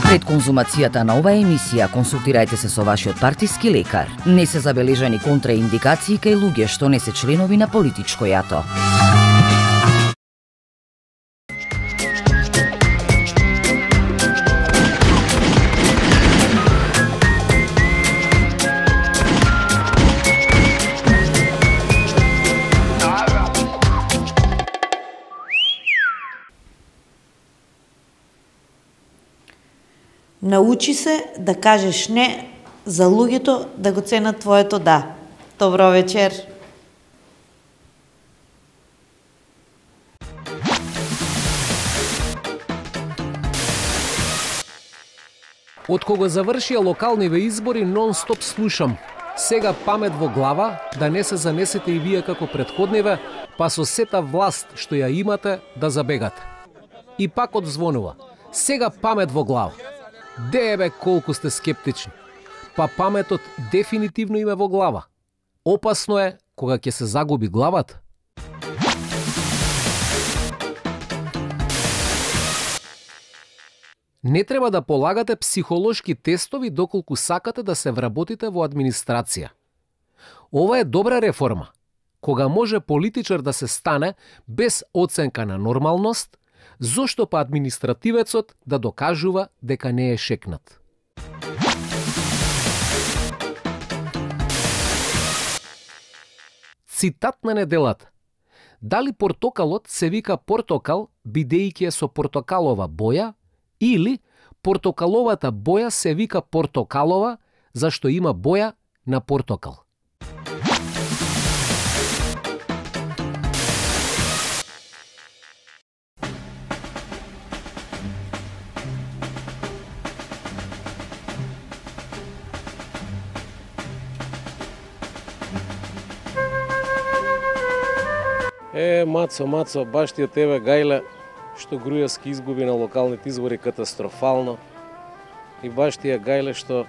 Пред конзумацијата на оваа емисија консултирајте се со вашиот партиски лекар. Не се забележани контраиндикации кај луѓе што не се членови на политичко јато. Научи се да кажеш не за луѓето да го ценат твоето да. Добро вечер. Од кога завршија локалниве избори, нон-стоп слушам. Сега памет во глава, да не се занесете и вие како предходниве, па со сета власт што ја имате да забегате. И пак одзвонува. Сега памет во глава. Де бе колку сте скептични. Па паметот дефинитивно има во глава. Опасно е кога ќе се загуби главата. Не треба да полагате психолошки тестови доколку сакате да се вработите во администрација. Ова е добра реформа, кога може политичар да се стане без оценка на нормалност, зошто па административецот да докажува дека не е шекнат. Цитат на неделата. Дали портокалот се вика портокал бидејќи е со портокалова боја, или портокаловата боја се вика портокалова зашто има боја на портокал? Мацо, баш ти од тебе, Гајле, што Грујевски изгуби на локалните избори катастрофално. И баш ти е, Гајле, што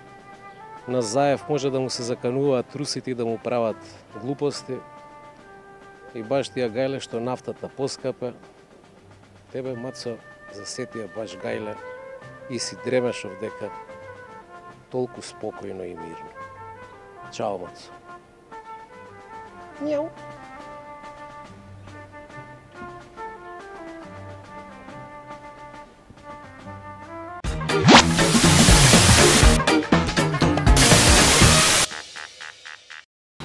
на Заев може да му се закануваат русите и да му прават глупости. И баш ти е, Гајле, што нафтата поскапе. Тебе, Мацо, засетија баш, Гајле, и си дремешов дека толку спокојно и мирно. Чао, Мацо. Мјау.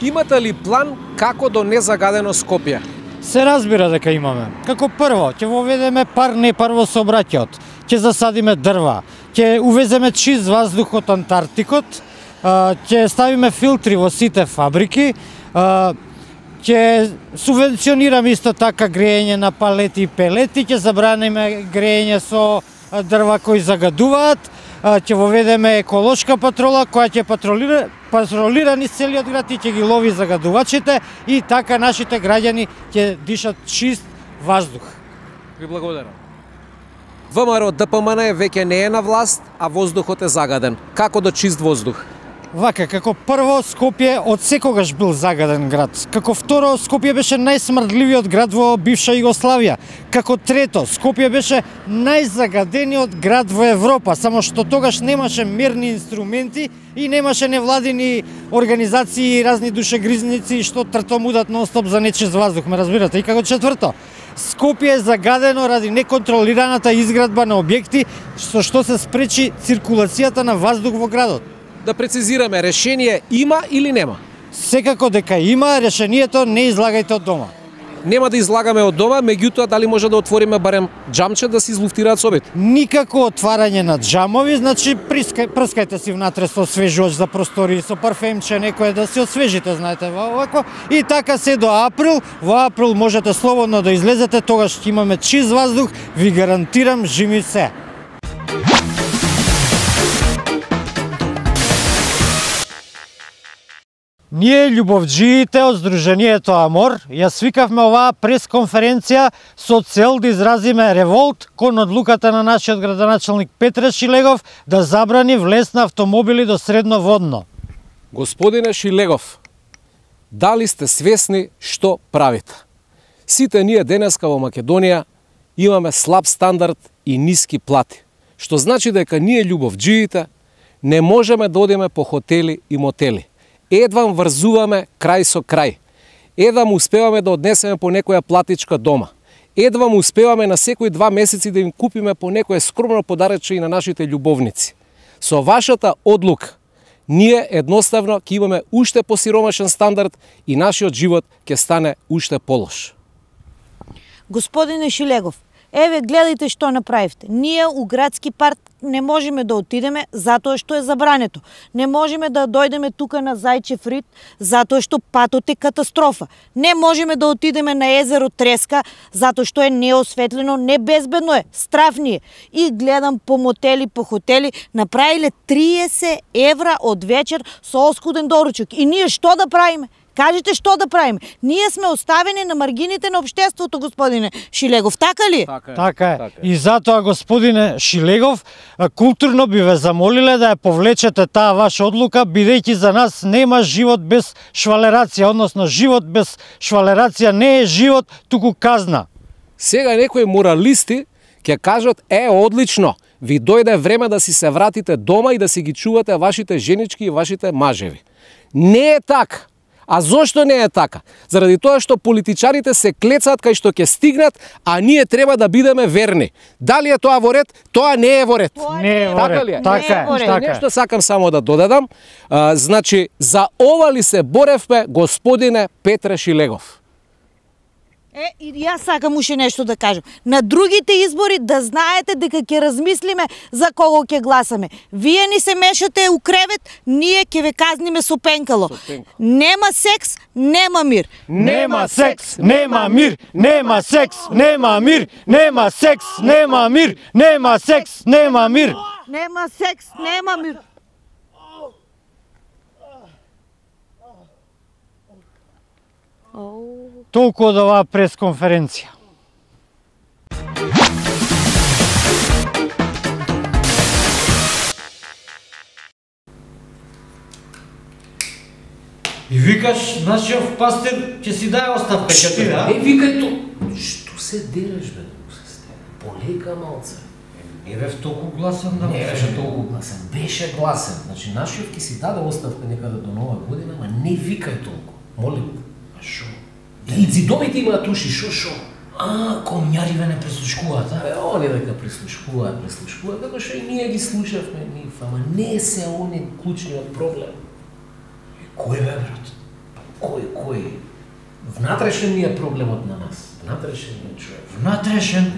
Имате ли план како до незагадено Скопје? Се разбира дека имаме. Како прво, ќе воведеме пар-непар во сообраќајот, ќе засадиме дрва, ќе увеземе чист воздух од Антарктикот, ќе ставиме филтри во сите фабрики, ќе субвенционираме исто така грејење на палети и пелети, ќе забраниме грејење со дрва кои загадуваат, ќе воведеме еколошка патрола која ќе патролира низ целиот град и ќе ги лови загадувачите и така нашите граѓани ќе дишат чист воздух. Ви благодарам. ВМРО ДПМН веќе не е на власт, а воздухот е загаден. Како до чист воздух? Вака, како прво, Скопје од секогаш бил загаден град. Како второ, Скопје беше најсмрдливиот град во бивша Југославија. Како трето, Скопје беше најзагадениот град во Европа, само што тогаш немаше мерни инструменти и немаше невладини организации и разни душегризници што тртомудат нон-стоп за нечист воздух, ме разбирате? И како четврто, Скопје е загадено ради неконтролираната изградба на објекти, што се спречи циркулацијата на воздух во градот. Да прецизираме, решение има или нема? Секако дека има, решението не излагајте од дома. Нема да излагаме од дома, меѓутоа дали може да отвориме барем џамче да се излуфтираат собите? Никако отварање на џамови, значи прскајте си внатре со освежувач за простори, со парфемче некое да се освежите, знаете, овако. И така се до април, во април можете слободно да излезете, тогаш ќе имаме чист воздух, ви гарантирам, жими се. Ние, љубовџиите од Сдруженијето Амор, ја свикавме оваа пресконференција со цел да изразиме револт кон одлуката на нашиот градоначалник Петре Шилегов да забрани влез на автомобили до Средноводно. Господине Шилегов, дали сте свесни што правите? Сите ние денеска во Македонија имаме слаб стандард и ниски плати, Што значи дека ние љубовџиите не можеме да одиме по хотели и мотели. Едвам врзуваме крај со крај. Едвам успеваме да однесеме по некоја платичка дома. Едвам успеваме на секои 2 месеци да им купиме по некое скромно подаръче и на нашите љубовници. Со вашата одлука, ние едноставно ќе имаме уште посиромашен стандард и нашиот живот ќе стане уште полош. Господине Шилегов, еве гледајте што направивте. Ние у градски парк не можеме да отидеме затоа што е забрането. Не можеме да дојдеме тука на Зајчев рид затоа што патот е катастрофа. Не можеме да отидеме на езеро Треска затоа што е неосветлено, небезбедно е, страфни е. И гледам по мотели, по хотели, направиле 30 евра од вечер со оскуден доручок. И ние што да правиме? Кажете што да правиме? Ние сме оставени на маргините на општеството, господине Шилегов, така ли? Така е. И затоа, господине Шилегов, културно би ве замолиле да ја повлечете таа ваша одлука, бидејќи за нас нема живот без швалерација, односно живот без швалерација не е живот, туку казна. Сега некои моралисти ќе кажат, одлично, ви дојде време да си се вратите дома и да си ги чувате вашите женички и вашите мажеви. Не е така. А зошто не е така? Заради тоа што политичарите се клецаат кај што ќе стигнат, а ние треба да бидеме верни. Дали е тоа во ред? Тоа не е во ред. Не е во ред. Така е. Нешто сакам само да додадам. Значи, за ова ли се боревме, господине Петре Шилегов? И јас сакам уште нешто да кажам. На другите избори да знаете дека ќе размислиме за кого ќе гласаме. Вие ни се мешате у кревет, ние ќе ве казниме со пенкало. Нема секс, нема мир. Нема секс, нема мир. Нема секс, нема мир. Нема секс, нема мир. Нема секс, нема мир. Нема секс, нема мир. Толку од оваа пресконференција. И викаш, нашиот пастир ќе си даде оставка, ќе ти да? Викај то. Што се дереш, бе, полека малце. Не бев толку гласен да. Не беше толку гласен, беше гласен. Значи, нашиот ќе си даде оставка некаде до нова година, ама не викај толку. Молим. А шо? И зидовите имаат уши, шо? Комјариве не прислушкуваат, а? Они дека прислушкуваат, како што и ние ги слушавме нив, ама не се они клучниот проблем. Кој бе, брат? Кој? Внатрешен ни е проблемот на нас. Внатрешен ни е човек. Внатрешен?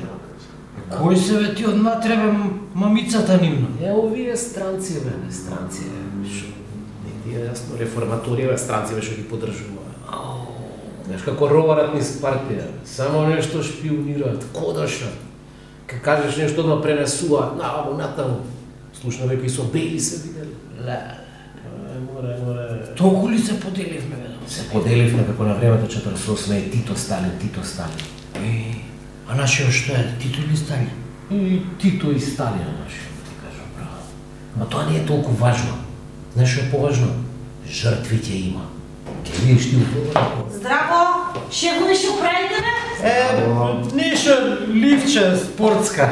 Кој се бе ти од натребе мамицата нивна? Овие странци, бе, не странци, шо? Не ти е јасно, реформаторија, странци, бе, што ги поддржуваат. Знаеш како роварат низ партија, само нешто шпионираат, кодашат. Ка кажеш нешто да пренесуваат, натаму. Слушно веќе и со Бели се видели. Море. Толку ли се поделивме, бе? Се поделивме како на времето 48 е Тито Сталин. А нашиот што е? Тито или Сталин? И Тито и Сталин нашиот, ти кажам, браво. Но тоа не е толку важно. Знаеш што е поважно? Жртви ќе има. Ке видиш ти утова? Здраво! Шефове, што правите, бе? Нешто ливче спортска.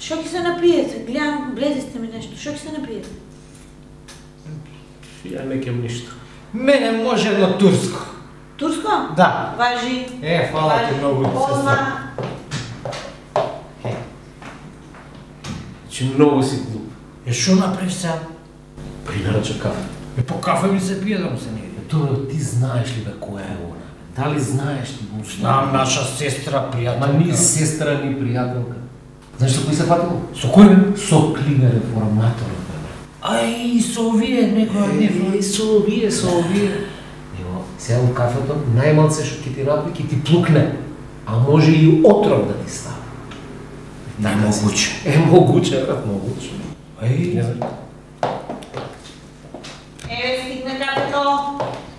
Што ќе се напиете? Гледам, бледи сте ми нешто. Што ќе се напиете? Ја не кем ништо. Мене може едно турско. Турско? Да. Важи. Фала ти многу, сестра. Че многу си глуп. Што направи сега? Принарача кафе. По кафе ми се пие да му се не иде. Тоа ти знаеш ли бе која е она? Дали знаеш ти го? Знам, наша сестра, пријателка. Ма ни сестра, ни пријателка. Знаеш со кој се фатило? Со кој бе? Со Климе реформатор. Со овие некоја Со овие. Ево, сега у кафето, најмалце што ќе ти направи, ќе ти плукне. А може и отров да ти стави. Могуче. Брат, могуче. Не знам. Стигна кафето.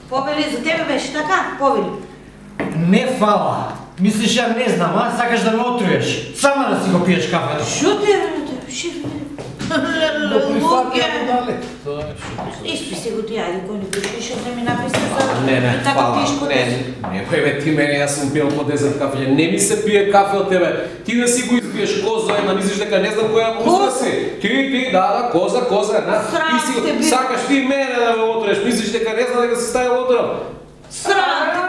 Повели, за тебе беше така? Повели. Не фала. Мислиш ја не знам, а? Сакаш да ме отруеш. Сама да си го пиеш кафето. Шо ти е, шеф? Испи се го ти, ајде, кој не пишеш, што не ми написа за... Не, фала. Не, бе, ти мене, јас сум пиел по 10 кафе, не ми се пие кафе од тебе. Ти да си го изпиеш. викаш коза, една мислиш дека не знам која уста си. Ти, да, коза, една. И си сакаш ти мене да ме отреш, мислиш дека не знам дека си ставил отров. Срам те,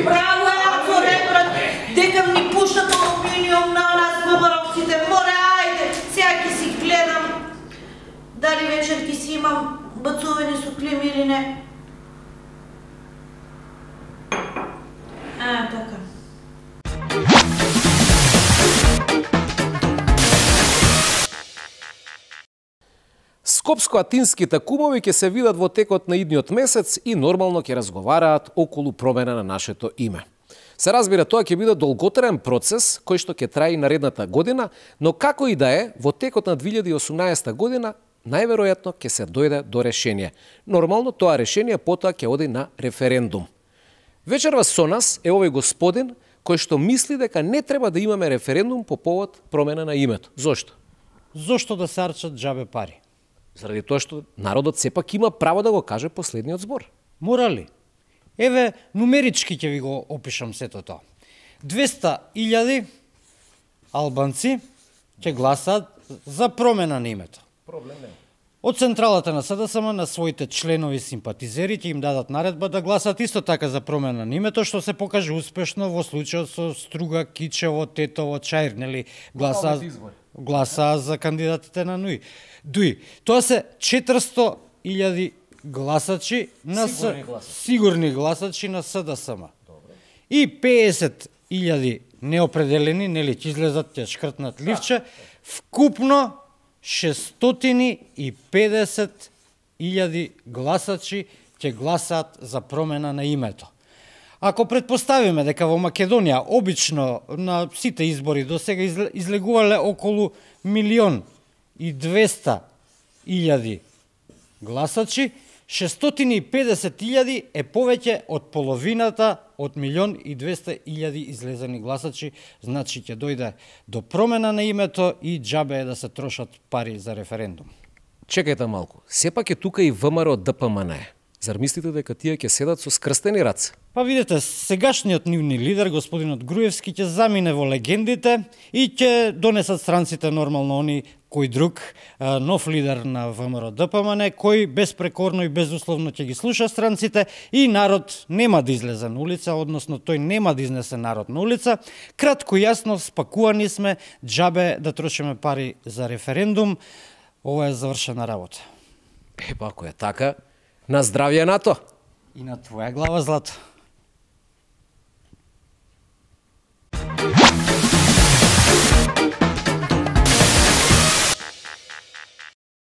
право е, ако рекорат, дека ми пуштат алуминиум на нас бубаровците. Море, ајде, сега ќе си гледам дали вечер ќе си имам бацувани со клими или не. Така. Скопско-атинските кумови ќе се видат во текот на идниот месец и нормално ќе разговараат околу промена на нашето име. Се разбира, тоа ќе биде долготраен процес кој што ќе трае наредната година, но како и да е, во текот на 2018 година најверојатно ќе се дојде до решение. Нормално тоа решение потоа ќе оди на референдум. Вечерва со нас е овој господин кој што мисли дека не треба да имаме референдум по повод промена на името. Зошто? Зошто да се арчат џабе пари? Заради тоа што народот сепак има право да го каже последниот збор. Мора ли? Еве, нумерички ќе ви го опишам сето тоа. 200.000 албанци ќе гласаат за промена на името. Проблем не. Од централата на СДСМ на своите членови симпатизери ќе им дадат наредба да гласаат исто така за промена на името, што се покаже успешно во случајот со Струга, Кичево, Тетово, Чаир, нели гласаа за кандидатите на ДУИ. Тоа се 400.000 гласачи на сигурни гласачи на СДСМ. И 50.000 неопределени, нели ќе излезат, ќе шкртнат ливче, вкупно 650.000 гласачи ќе гласаат за промена на името. Ако предпоставиме дека во Македонија обично на сите избори до сега излегувале околу 1.200.000 гласачи, 650.000 е повеќе од половината од 1.200.000 излезени гласачи, значи ќе дојде до промена на името и џабе е да се трошат пари за референдум. Чекајте малку, сепак е тука и ВМРО ДПМН. Зар мислите дека тие ќе седат со скрстени раце? Па видите, сегашниот нивни лидер, господинот Груевски, ќе замине во легендите и ќе донесат странците нормално они кој друг, нов лидер на ВМРО ДПМН, кој безпрекорно и безусловно ќе ги слуша странците и народ нема да излезе на улица, односно тој нема да изнесе народ на улица. Кратко и јасно, спакувани сме, џабе да трошиме пари за референдум. Ова е завршена работа. Па ако е така, на здравје НАТО! И на твоја глава, Злато.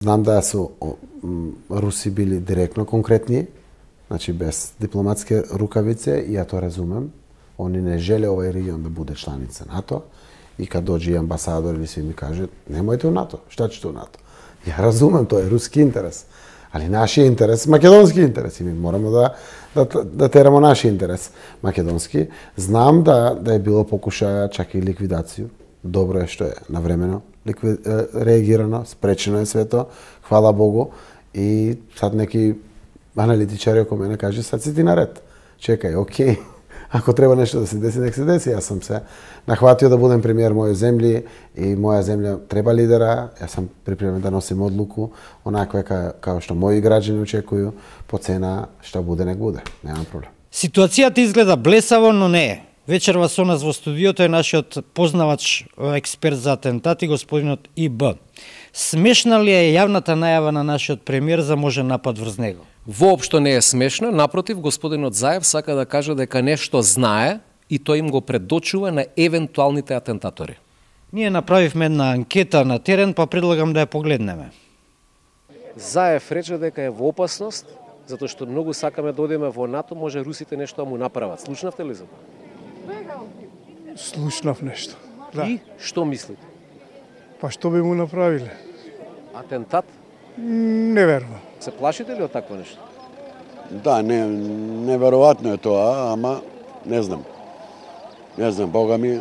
Знам да со Руси били директно конкретни, значи без дипломатски рукавице, и ја тоа разумем. Они не желе овој регион да буде чланица НАТО, и кад дојде амбасадор или се ми каже, немојте у НАТО, шта ќе у НАТО? Ја разумем, тоа е руски интерес. Али нашиот интерес, македонски интерес, и ми морамо да терамо нашиот интерес македонски. Знам да е било покушаја чак и ликвидација. Добро е што е навремено реагирано, спречено е свето, хвала Богу. И сад неки аналитичари околу мене каже, сад си ти наред. Чекај, окей, ако треба нешто да се деси, нек се деси. Јас сам се нахватио да будем премиер моја земји и моја земја треба лидера. Јас сам припремен да носим одлуку, онаква као што мои граѓани очекуju, по цена што буде, нек буде. Нема проблем. Ситуацијата изгледа блесаво, но не е. Вечерва со нас во студиото е нашиот познавач експерт за атентати, господинот ИБ. Смешна ли е јавната најава на нашиот премиер за можен напад врз него? Воопшто не е смешно, напротив, господинот Заев сака да каже дека нешто знае и тој им го предочува на евентуалните атентатори. Ние направивме една анкета на терен, па предлагам да ја погледнеме. Заев рече дека е во опасност, затоа што многу сакаме да одиме во НАТО, може русите нешто да му направат. Слушнавте ли за тоа? Слушнав нешто. Да. И што мислите? Па што би му направиле? Атентат? Не верувам. Се плашите ли од такво нешто? Да, неверојатно е тоа, ама не знам. Не знам, Бога ми,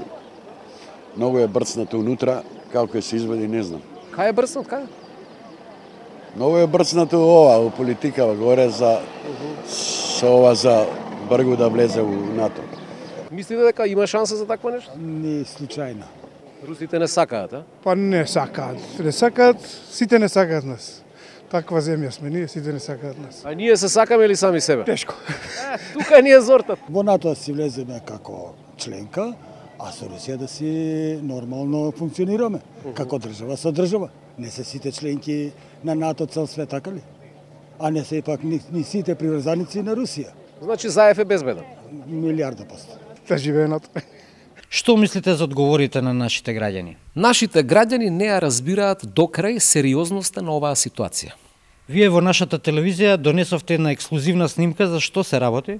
многу е брцнато унутра, како се изведи, не знам. Кај е брцнат, кај? Многу е брцнато ова, у политикава, горе за со ова за Бргу да влезе у НАТО. Мислите дека има шанса за такво нешто? Не случајно. Русите не сакаат, а? Па не сакаат. Не сакаат, сите не сакаат нас. Таква земја сме, ние сите не сакаат нас. А ние се сакаме ли сами себе? Тешко. Тука ни е зортат. Во НАТО си влеземе како членка, а со Русија да си нормално функционираме, како држава со држава. Не се сите членки на НАТО цел свет, така ли? А не се ипак ни сите приврзаници на Русија. Значи Заев е безбеден. 1.000.000%. Да живее НАТО. Што мислите за одговорите на нашите граѓани? Нашите граѓани не ја разбираат докрај сериозноста на оваа ситуација. Вие во нашата телевизија донесовте една ексклузивна снимка за што се работи?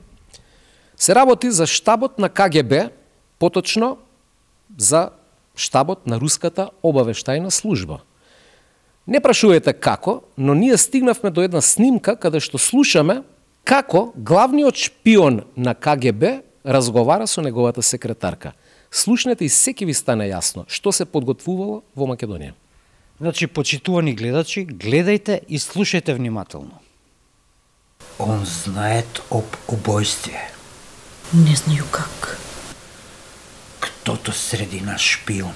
Се работи за штабот на КГБ, поточно за штабот на Руската обавештајна служба. Не прашувајте како, но ние стигнавме до една снимка каде што слушаме како главниот шпион на КГБ разговара со неговата секретарка. Слушнете и секи ви стане јасно што се подготвувало во Македонија. Значи, почитувани гледачи, гледајте и слушајте внимателно. Он знает об убойстве. Не знаю как. Кто-то среди нас шпион.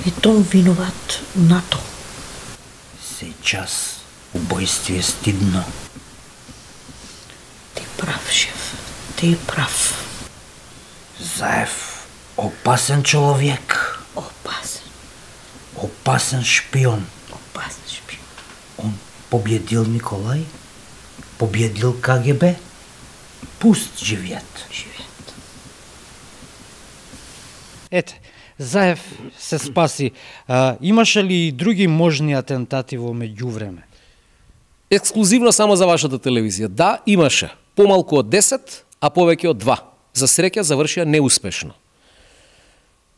И том виноват НАТО. Сейчас убойстве стыдно. Ти прав, шеф. Ти прав. Заев опасен человек. Опасен. Опасен шпион. Опасен шпион. Он победил Николай, победил КГБ. Пусть живеет. Ете, Заев се спаси. Имаше ли и други можни атентати во меѓувреме? Ексклузивно само за вашата телевизија. Да, имаше. Помалку од 10, а повеќе од 2. За среќа завршија неуспешно.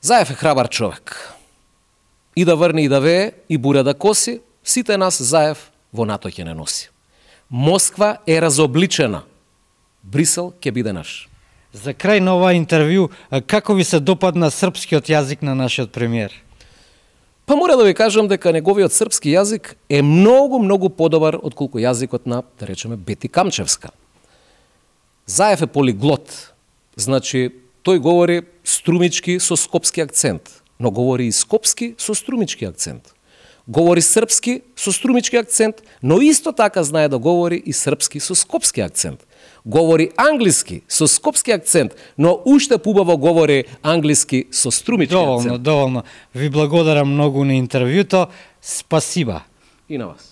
Заев е храбар човек. И да врне и да вее, и буря да коси, сите нас Заев во НАТО ќе не носи. Москва е разобличена. Брисел ќе биде наш. За крај на ова интервју, како ви се допадна српскиот јазик на нашиот премиер? Па мора да ви кажам дека неговиот српски јазик е многу подобар отколку јазикот на, да речеме, Бети Камчевска. Заев е полиглот. Значи, тој говори струмички со скопски акцент, но говори и скопски со струмички акцент. Говори српски со струмички акцент, но исто така знае да говори и српски со скопски акцент. Говори англиски со скопски акцент, но уште побаво говори англиски со струмички акцент. Доволно. Ви благодарам многу на интервјуто. Спасиба. И на вас.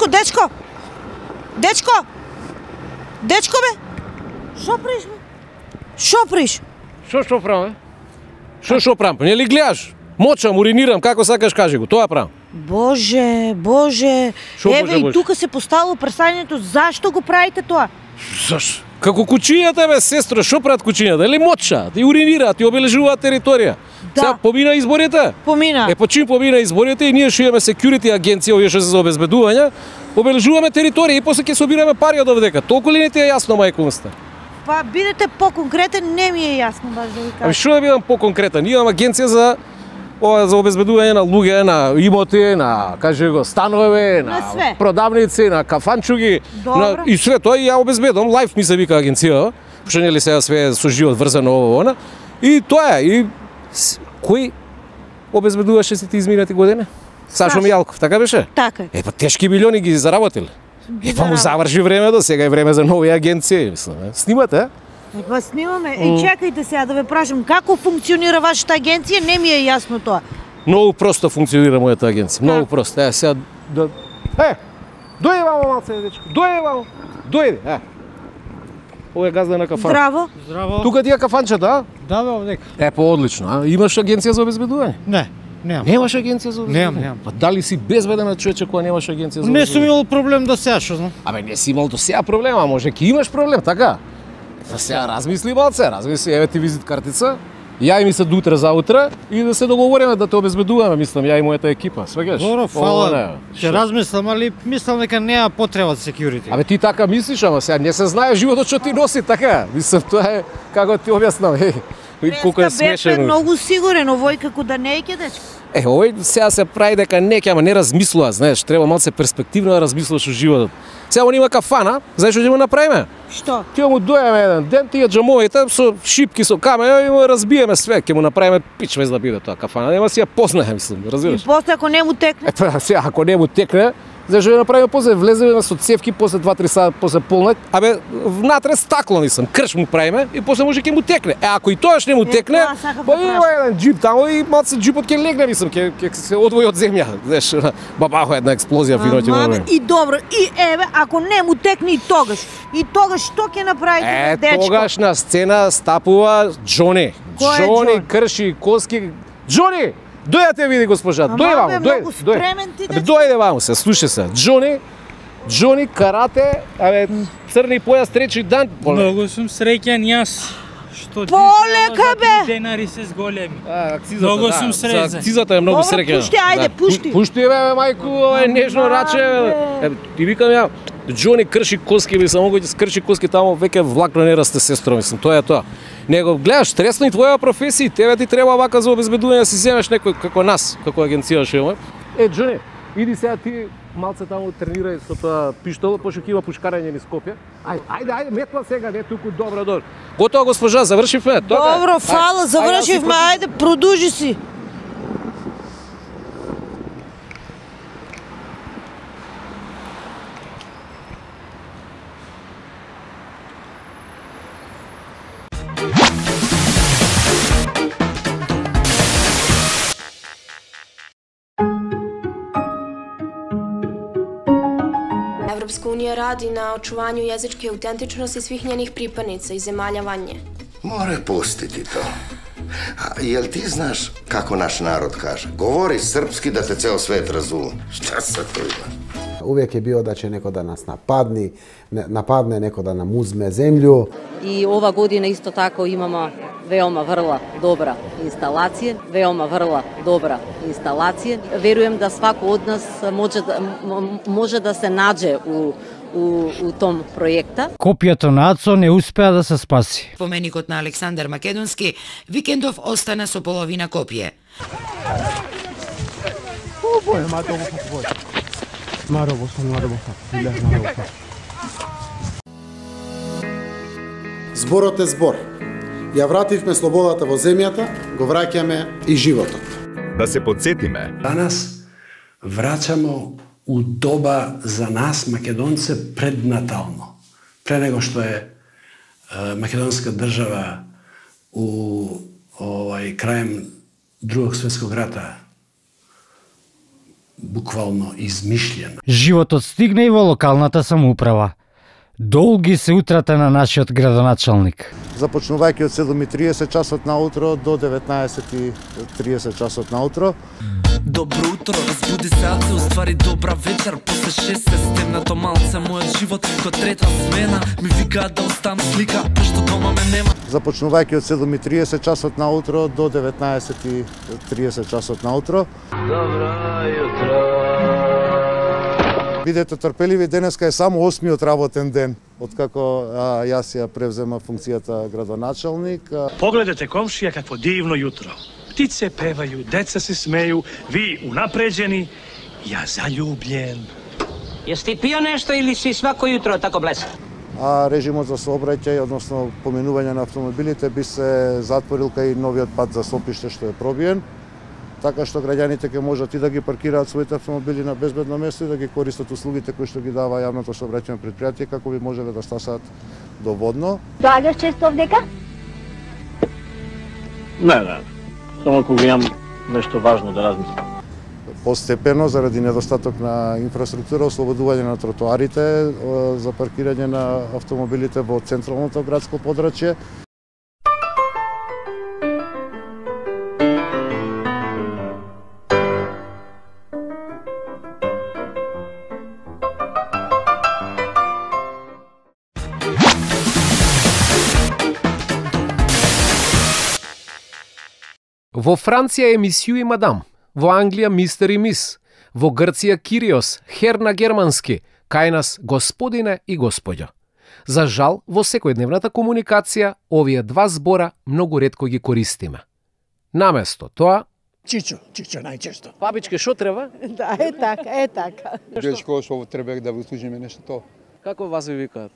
Дечко! Дечко, бе! Шо приш, бе? Шо приш? Шо правам, бе? Шо правам? Не ли гледаш? Мочам, уринирам, како сакаш кажи го, тоа правам. Боже. Еве и тука се поставило прашањето зашто го правите тоа? Зашто? Како кучињата, бе, сестро, шо прават кучињата? Или мочаат, и уринираат, и обележуваат територија. Да. Сега помина изборите? Помина. По чим помина изборите и ние што имаме security агенција, овие што се за обезбедување, обележуваме територија и после ќе собираме пари од овдека. Толку ли не ти е јасно, мајкунста? Па бидете поконкретен, не ми е јасно баш да ви кажам. Што да бидам поконкретен? Ние имаме агенција за обезбедување на луѓе, на имоти, на, кажи го, станови, на продавници, на кафанчуги, и све тоа и ја обезбедувам. Лайф ми се вика агенција, што нели сега све со живот врзано ово она. И тоа е. И кој обезбедуваше сите изминати години? Сашо Мијалков, така беше? Така. Па тешки милиони ги заработил. Па му заврши времето, сега е време за нови агенции, мислам. Снимате? Па снимаме. И чекајте сега да ве прашам, како функционира вашата агенција? Не ми е јасно тоа. Многу просто функционира мојата агенција. Многу просто. Сега да... дојде вамо малце, дечко. Дојде вамо. Дојде. Ова е газда на кафан. Здраво. Тука ти е кафанчето, а? Да, бе, овдека. Па одлично. Имаш агенција за обезбедување? Не. Немам. Немаш агенција за обезбедување? Немам. Па дали си безбеден човече кога немаш агенција за обезбедување? Не сум имал проблем до сега, што знам. Не си имал до сега проблема, може ќе имаш проблем, така? За сега размисли малце, еве ти визит картица. Ја и ми се до утре за утре и да се договориме да те обезбедуваме, мислам, ја и мојата екипа. Свегаш? Добро, фала. Ќе размислам, али мислам дека нема потреба за security. Ти така мислиш, ама сега не се знае животот што ти носи, така? Мислам, тоа е како ти објаснам, колку е смешен. Бевте многу сигурен, овој како да не е ќе дечко. Овој сега се прави дека ама не размислува, знаеш, треба малце перспективно да размислуваш во животот. Сега он има кафана, знаеш што ќе му направиме? Што? Ќе му дојдеме еден ден, тие џамовите со шипки, со камења и му разбиеме све, ќе му направиме пич вез да биде тоа кафана, нема си ја познае, мислам, разбираш? И после ако не му текне? Сега ако не му текне, зашто ја направиме после влеземе со цевки, после 2-3 сата, после полнок, внатре стакло, мислам, крш му правиме и после може ќе му текне. Ако и тоаш не му текне, има еден джип таму и малце джипот ќе легне, мислам, ќе се одвои од земја. Знаеш, бабахо една експлозија финоќе имаме. И добро, и еве, ако не му текне и тогаш што ќе направите, дечко? Тогаш на сцена стапува Џони. Џони крши коски. Џони! Дојде те види госпожа, дојде ваму, дојде ваму се, слушај се. Џони карате, црни појас трети дан. Многу сум среќен јас. Што полека бе. Денари се зголеми. Многу сум среќен. За акцизата е многу среќен. Пушти, ајде, пушти. Пушти бе, мајку, нежно раче. Ти викам ја, Џони крши коски, мислам, могу ќе крши коски таму, веќе влакно не расте, сестро, мислам, тоа е тоа. Него гледаш, тресно и твоја професија, тебе ти треба вака за обезбедување да си земеш некој како нас, како агенција што имаме. Џони, иди сега ти малце таму тренирај со тоа пиштол, пошто ќе има пушкарење низ Скопје. Ајде, метла сега, не туку, добро. Готово госпожа, завршивме. Добро, фала, завршивме, ајде, продужи си. Европска унија ради на очувању јазичке аутентичности свих нjenih припадница и земаља вање. Море пустити то. А јел ти знаш како наш народ каже? Говори српски да те цел свет разуме. Шта се тоа? Увек е био да ќе некој да нас нападне, некој да нам узме земју. И ова година исто тако имаме веома врла добра инсталација, Верувам да свако од нас може да се наđe у том проекта. Копијата на АЦО не успеа да се спаси. Поменикот на Александар Македонски викендов остана со половина копие. Зборот е збор. Ја вративме слободата во земјата, го враќаме и животот. Да се подсетиме. Данас враќамо у доба за нас, македонце, преднатално. Пре него што е македонска држава у крајем Другог светског рата буквално измишлена. Животот стигна и во локалната самоуправа. Долги се утрата на нашиот градоначалник. Започнувајќи од 7:30 часот наутро до 19:30 часот наутро. Добро утро, разбуди се, а се уствари добра вечер. После 6 се стемнато малце, мојот живот ко трета смена. Ми викаат да оставам слика, пошто дома ме нема. Започнувајќи од 7:30 часот наутро до 19:30 часот наутро. Добро утро. Бидете трпеливи, денеска е само 8-миот работен ден откако јас ја превзема функцијата градоначалник. Погледате комшија какво дивно јутро. Птице певају, деца се смеју, ви унапреđeni, ја заљубљен. Јес ти пио нешто или си свако јутро тако блеска? А режимот за сообраќај, односно поминување на автомобилите, би се затворил кај новиот пат за Сопиште што е пробиен, така што граѓаните ќе можат и да ги паркираат своите автомобили на безбедно место и да ги користат услугите кои што ги дава јавното сообраќајно претпријатие како би можеле да стасаат доводно. Доаѓаш често овдека? Не. Само кога имам нешто важно да размислам. Постепено, заради недостаток на инфраструктура, ослободување на тротоарите за паркирање на автомобилите во централното градско подрачје. Во Франција емисију и мадам, во Англија мистер и мис, во Грција Кириос, хер на германски, кај нас господине и господјо. За жал, во секојдневната комуникација, овие два збора многу ретко ги користиме. Наместо тоа, Чичо најчесто. Бабичке, што треба? Да, е така. Дечко, што треба да го служиме нешто. Како вас ви викаат?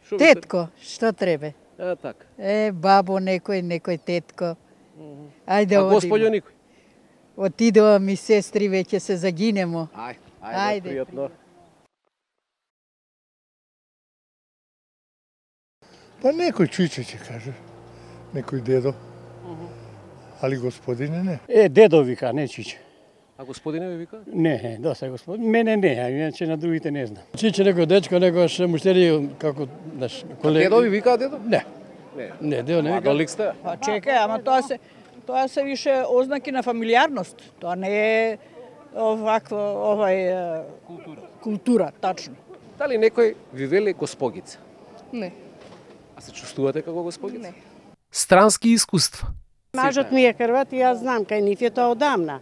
Тетко, што треба? Така. Бабо некој тетко. Ајде одиме. А господјо никој? Отидува ми сестри, веќе се загинемо. Ајде, пријатно. Па некој чиче ќе каже, некој дедо. Али господине не. Дедо вика, не чиче. А господине ви вика? Не, доста господин. Мене не, а иначе на другите не знам. Чиче некој дечко, некој муштери како наш колега. Дедо ви вика дедо? Не. Не, дедо не вика. Младолик сте? Па чекај, ама тоа се више ознаки на фамилиарност. Тоа не е култура, тачно. Дали некој ви вели госпогица? Не. А се чувствувате како госпогица? Не. Странски искуства. Мажот ми е Хрват и јас знам, кај нив е тоа одамна.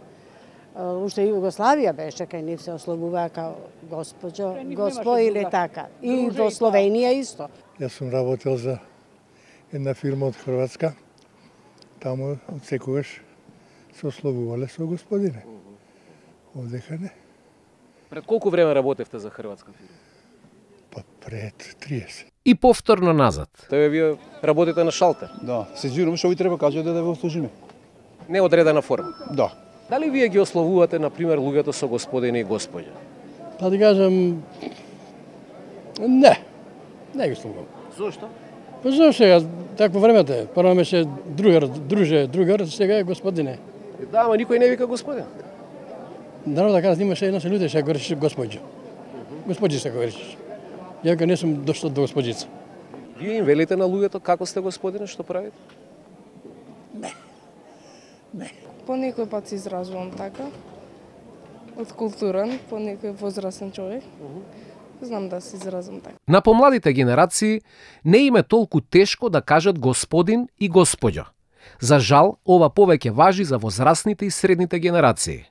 Уште Југославија беше, кај нив се ослобуваа као госпо или така. И во Словенија исто. Јас сум работел за една фирма од Хрватска. Таму од секогаш се ослобувале со господине. Овдека не. Пред колку време работевте за хрватска фирма? Па пред 30. И повторно назад. Тоа вие работите на шалтер? Да, се жирам што ви треба кажете да ве услужиме. Не одредена форма? Да. Дали вие ги ословувате, например, луѓето со господине и господја? Па да кажам, не ги ословувам. Зошто? Па зашто сега, такво времето е. Прво беше другар, сега е господине. Да, ама никој не вика господин. Наravno да кажа, имаше едно се луѓе што говориш господјо. Господјица говориш. Ја не сум дошло до господјица. Вие им велите на луѓето како сте господине, што правите? Не. По некој пат се изразувам така. Од културен, по некој возрастен човек. Знам да се изразам така. На помладите генерации не им е толку тешко да кажат господин и господјо. За жал, ова повеќе важи за возрастните и средните генерации.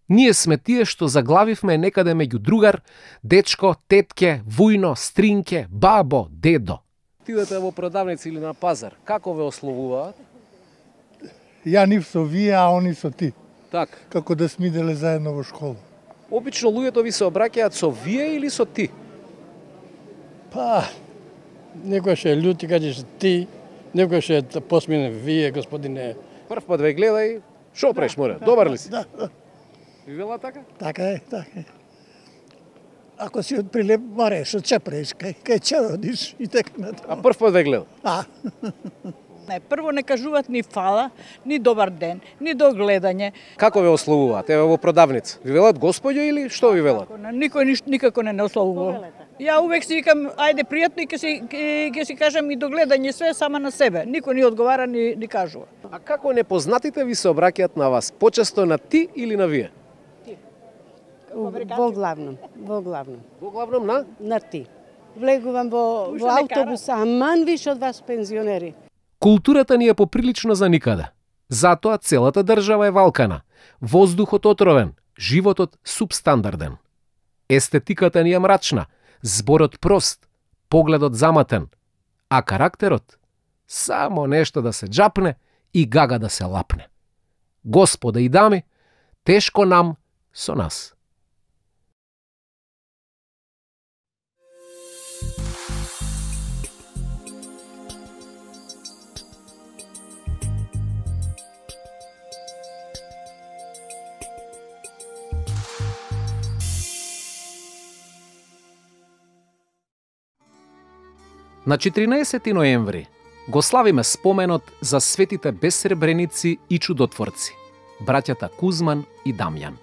Ние сме тие што заглавивме некаде меѓу другар, дечко, тетке, вујно, стринке, бабо, дедо. Тидете во продавници или на пазар, како ве ословуваат? Ја нив со вие, а они со ти. Така. Како да сме иделе заедно во школа. Обично луѓето ви се обраќаат со вие или со ти? Па, некој ше љути кажеш ти, некој ше посмине вие, господине. Прв пат ве гледај, шо преш море, добар ли си? Да. Ви вела така? Така е. Ако си од Прилеп, бареш, од Чепреш, кај че одиш и така натаму. А прв пат ве гледа? Не, прво не кажуваат ни фала, ни добар ден, ни до гледање. Како ве ословуваат? Еве во продавница. Ви велат господјо или што ви велат? Никој никако не ословува. Ја увек си викам, ајде пријатно и ќе си кажам и до гледање све сама на себе. Никој ни одговара ни кажува. А како непознатите ви се обраќаат на вас? Почесто на ти или на вие? Во главном. Во главном на? На ти. Влегувам во автобус, аман више од вас пензионери. Културата ни е поприлично за никаде. Затоа целата држава е валкана, воздухот отровен, животот субстандарден. Естетиката ни е мрачна, зборот прост, погледот заматен, а карактерот само нешто да се џапне и гага да се лапне. Господа и дами, тешко нам со нас. На 14 ноември го славиме споменот за светите безсребреници и чудотворци, браќата Кузман и Дамјан.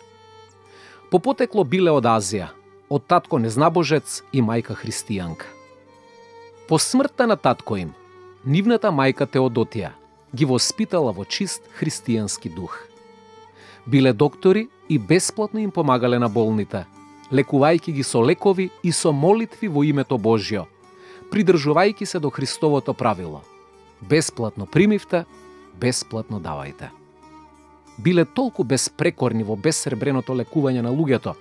По потекло биле од Азија, од татко незнабожец и мајка христијанка. По смртта на татко им, нивната мајка Теодотија ги воспитала во чист христијански дух. Биле доктори и бесплатно им помагале на болните, лекувајќи ги со лекови и со молитви во името Божјо, придржувајќи се до Христовото правило. Бесплатно примивте, бесплатно давајте. Биле толку безпрекорни во безсребреното лекување на луѓето,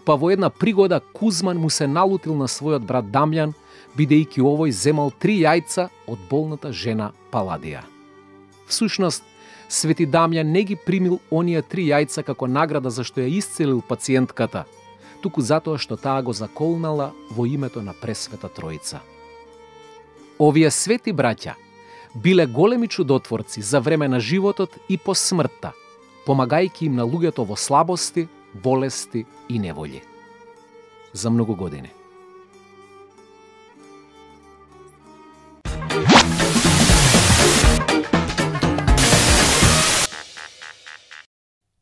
па во една пригода Кузман му се налутил на својот брат Дамјан, бидејќи овој земал 3 јајца од болната жена Паладија. Всушност, Свети Дамјан не ги примил оние 3 јајца како награда за што ја исцелил пациентката, туку затоа што таа го заколнала во името на Пресвета Троица. Овие свети браќа биле големи чудотворци за време на животот и по смртта, помагајќи им на луѓето во слабости, болести и неволји. За многу години.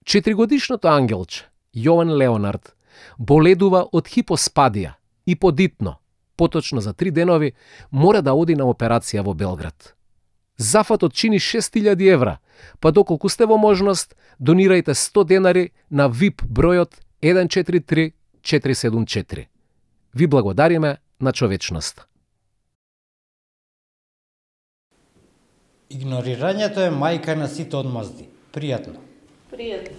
Четиригодишното ангелче, Јован Леонард, боледува од хипоспадија и подитно, поточно за 3 денови, мора да оди на операција во Белград. Зафатот чини 6000 евра, па доколку сте во можност, донирајте 100 денари на VIP бројот 143 474. Ви благодариме на човечноста. Игнорирањето е мајка на сите одмазди. Пријатно. Пријатно.